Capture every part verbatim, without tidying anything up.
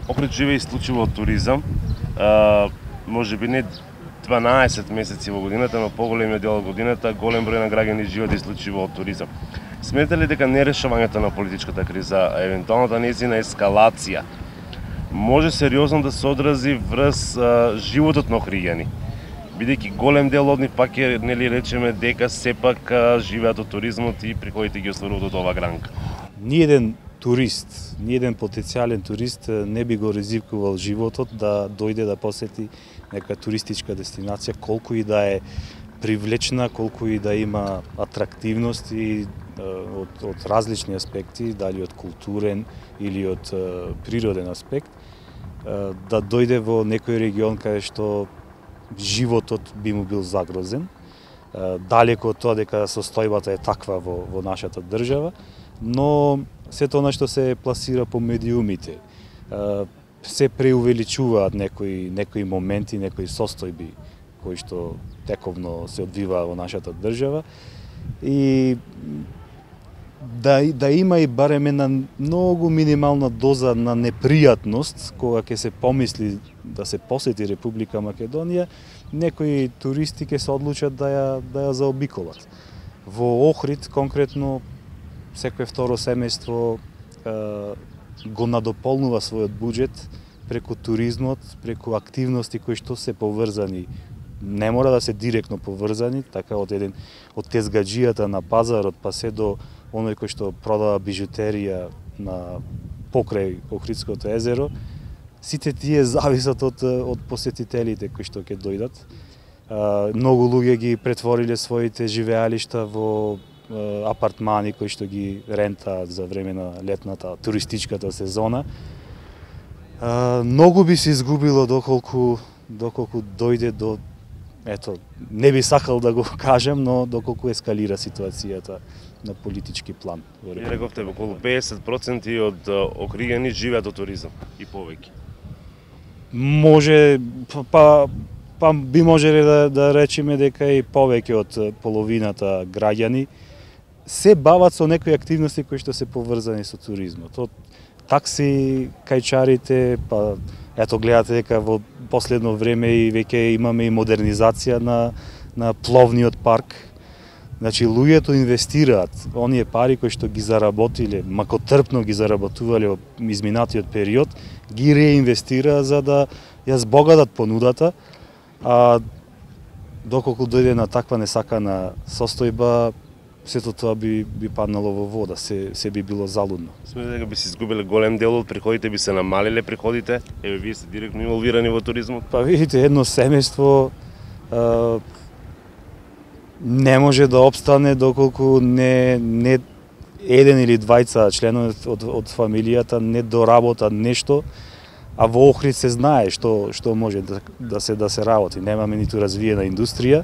Охрид живее исклучиво од туризам. А, може би не дванаесет месеци во годината, но поголемиот дел од годината голем број на граѓани живеат исклучиво од туризам. Сметате ли дека нерешавањето на политичката криза, евентуалната нејзина ескалација, може сериозно да се одрази врз а, животот на охриѓани? Бидејќи голем дел од нив пак е, нели речеме, дека сепак а, живеат од туризмот и приходите ги остваруваат од оваа гранка. Ниеден турист, ниеден потенцијален турист не би го ризикувал животот да дојде да посети нека туристичка дестинација, колку и да е привлечна, колку и да има атрактивност и од, од различни аспекти, дали од културен или од природен аспект, да дојде во некој регион каде што животот би му бил загрозен, далеко од тоа дека состојбата е таква во, во нашата држава, но сето она што се пласира по медиумите, се преувеличуваат некои, некои моменти, некои состојби кои што тековно се одвиваа во нашата држава и да, да има и барем една многу минимална доза на непријатност кога ќе се помисли да се посети Република Македонија, некои туристи ќе се одлучат да ја, да ја заобиколат. Во Охрид конкретно секое второ семејство е, го надополнува својот буџет преку туризмот, преку активности кои што се поврзани, не мора да се директно поврзани, така од еден од тезгаџијата на пазарот па се до оној кој што продава бижутерија на покрај Охридското езеро, сите тие зависат од, од посетителите кои што ќе дојдат. Многу луѓе ги претвориле своите живеалишта во апартмани кои што ги рентаат за време на летната туристичката сезона. Многу би се изгубило доколку доколку дојде до, ето, не би сакал да го кажам, но доколку ескалира ситуацијата на политички план. Вие рековте околу педесет проценти од охриѓани живеат од туризам и повеќе. Може, па, па би можеле да, да речеме дека и повеќе од половината граѓани се бават со некои активности кои што се поврзани со туризмот. Од такси, кајчарите, па ето гледате дека во последно време и веќе имаме и модернизација на, на пловниот парк. Значи, луѓето инвестираат оние пари кои што ги заработиле, макотрпно ги заработувале во изминатиот период, ги реинвестираат за да ја збогатат понудата, а доколку дојде на таква несакана состојба, сето тоа би, би паднало во вода, се, се би било залудно. Смете дека би се изгубиле голем дел од приходите, би се намалиле приходите? Еве, вие сте директно инволвирани во туризмот? Па видите, едно семејство а, не може да обстане доколку не, не еден или двајца членови од, од фамилијата не доработат нешто, а во Охрид се знае што што може да, да се да се работи. Немаме ниту развиена индустрија.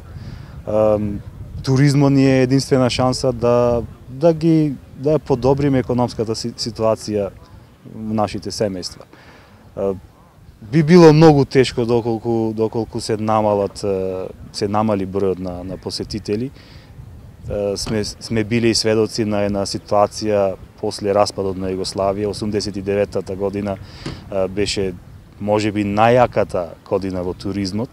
А, туризмот ни е единствена шанса да да ги да подобриме економската ситуација во нашите семејства. А, би било многу тешко доколку доколку се намалат се намали бројот на на посетители. Сме сме били и сведоци на една ситуација после распадот на Југославија. осумдесет и деветата година беше можеби најаката година во туризмот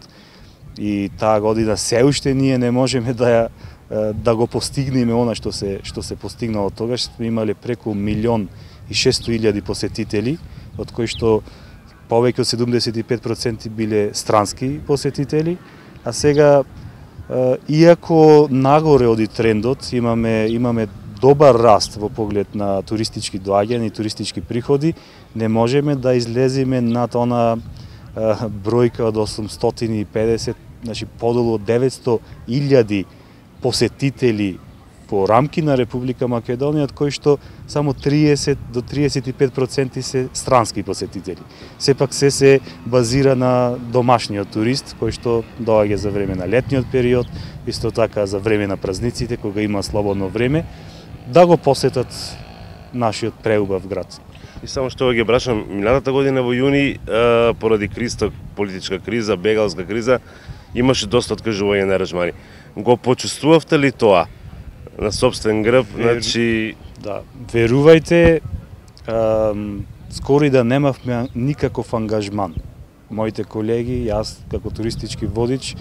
и таа година се уште ние не можеме да ја да го постигнеме она што се што се постигнало тогаш. Сме имале преку милион и шестстотини илјади посетители, од кои што повеќе од седумдесет и пет проценти биле странски посетители, а сега иако нагоре оди трендот, имаме имаме добар раст во поглед на туристички доаѓања и туристички приходи, не можеме да излеземе над она бројка од осумстотини и педесет, значи подолу од деветсто илјади посетители по рамки на Република Македонија, од кои што само триесет до триесет и пет проценти се странски посетители. Сепак се се базира на домашниот турист, кој што доаѓа за време на летниот период, исто така за време на празниците, кога има слободно време, да го посетат нашиот преубав град. И само што ги брашам, минатата година во јуни, поради кризата, политичка криза, бегалска криза, имаше доста откажување на аранжмани. Го почувствувавте ли тоа на собствен грб? Вер... Значи... Да, верувајте, ам, скоро и да немавме никаков ангажман. Моите колеги, јас како туристички водич,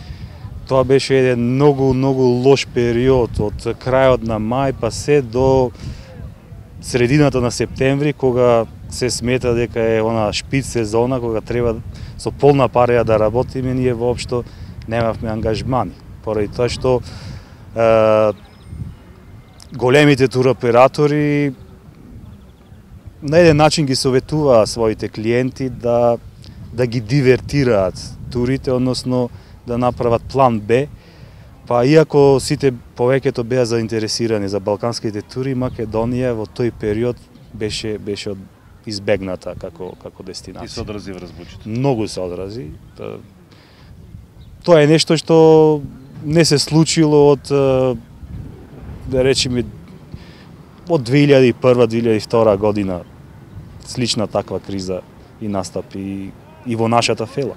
тоа беше еден многу, многу лош период од крајот на мај па се до средината на септември, кога се смета дека е она шпиц сезона, кога треба со полна пареја да работиме, ние воопшто немавме ангажмани. Поради тоа што е, големите туроператори на еден начин ги советуваа своите клиенти да да ги дивертираат турите, односно да направат план Б. Па иако сите повеќето беа заинтересирани за балканските тури, Македонија во тој период беше беше избегната како како дестинација. И се одрази врз буџетот. Многу се одрази. Тоа е нешто што не се случило од, да речеме, од две илјади и прва - две илјади и втора година. Слична таква криза и настапи и во нашата фела.